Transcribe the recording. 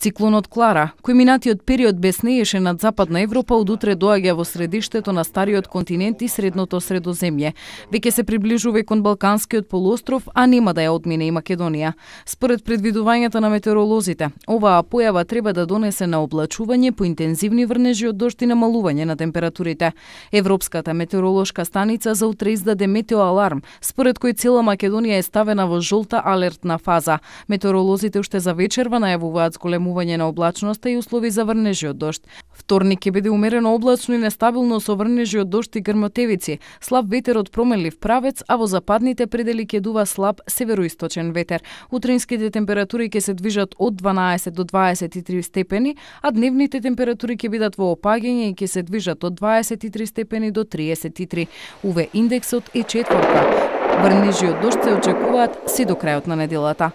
Циклонот Клара, кој минатиот период беснееше над Западна Европа, од утре доаѓа во средиштето на стариот континент и средното Средоземје. Веќе се приближува и кон Балканскиот полуостров, а нема да ја одмине и Македонија. Според предвидувањата на метеоролозите, оваа појава треба да донесе на облачување, по интензивни врнежи од дожд и намалување на температурите. Европската метеоролошка станица за утре издаде метеоаларм, според кој цела Македонија е ставена во жолта алертна фаза. Метеоролозите уште за вечерва најавуваат зголемување на облачноста и услови за врнежи од дожд. Вторник ќе биде умерено облачно и нестабилно со врнежи од дожд и грмотевици, слаб ветер од променлив правец, а во западните предели ќе дува слаб североисточен ветер. Утринските температури ќе се движат од 12 до 23 степени, а дневните температури ќе бидат во опаѓање и ќе се движат од 23 степени до 33. УВ индексот е 4. Врнежи од дожд се очекуваат се до крајот на неделата.